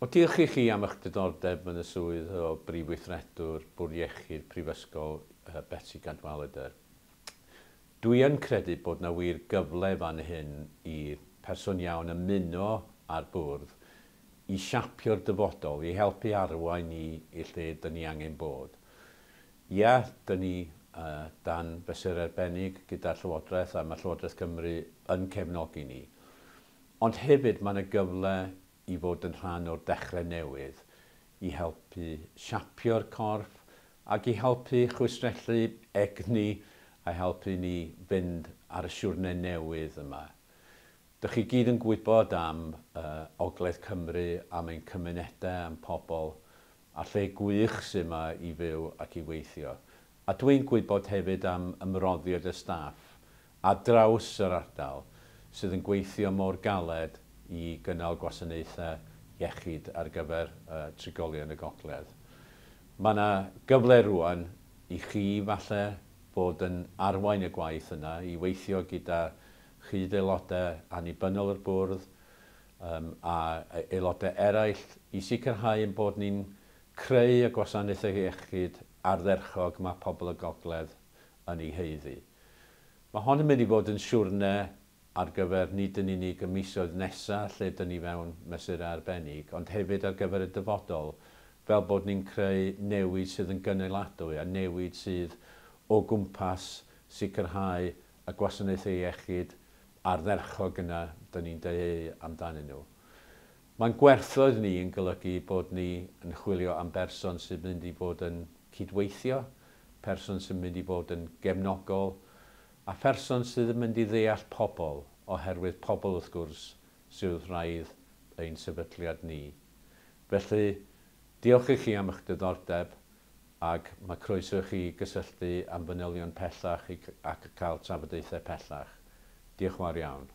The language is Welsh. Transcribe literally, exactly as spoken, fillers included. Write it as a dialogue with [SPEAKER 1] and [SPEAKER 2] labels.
[SPEAKER 1] Wel, diolch i chi am eich diddordeb yn y swydd o Brif Weithredwr Bwrdd Iechyd Prifysgol uh, Betsi Cadwaladr. Dwi yn credu bod na wir gyfle fan hyn i'r person iawn ymuno â'r bwrdd i siapio'r dyfodol, i helpu arwain ni i lle dyn ni angen bod. Ia, dyn ni uh, dan fesur arbennig gyda'r Llywodraeth a mae Llywodraeth Cymru yn cefnogi ni. Ond hefyd mae yna gyfle i fod yn rhan o'r dechrau newydd, i helpu siapio'r corff ac i helpu chwistrellu egni a helpu ni fynd ar y siwrne newydd yma. Dych chi gyd yn gwybod am uh, Ogledd Cymru, am ein cymunedau, am pobl, a lle gwych sydd yma i fyw ac i weithio. A dwi'n gwybod hefyd am ymroddiad y staff ar draws yr ardal sydd yn gweithio mor galed i gynnal gwasanaethau iechyd ar gyfer uh, trigolion y Gogledd. Mae yna gyfle rwan i chi falle bod yn arwain y gwaith yna, i weithio gyda chyd-aelodau annibynnol yr bwrdd um, a aelodau eraill i sicrhau ein bod ni'n creu y gwasanaethau iechyd ardderchog mae pobl y Gogledd yn ei haeddu. Mae hon yn mynd i fod yn siwrne ar gyfer nid yn unig y misoedd nesaf lle dyn ni fewn mesurau arbennig, ond hefyd ar gyfer y dyfodol, fel bod ni'n creu newid sydd yn gynaladwy a newid sydd o gwmpas sicrhau y gwasanaethau iechyd ardderchog yna dyn ni'n dyheu amdanyn nhw. Mae'n gwerthoedd ni yn golygu bod ni yn chwilio am berson sy'n mynd i fod yn cydweithio, person sy'n mynd i fod yn gefnogol, a pherson sydd yn mynd i ddeall pobl, oherwydd pobl wrth gwrs sydd wrth wraidd ein sefydliad ni. Felly, diolch i chi am eich diddordeb ac mae croeso i chi gysylltu am fanylion pellach ac cael trafodaethau pellach. Diolch yn fawr iawn.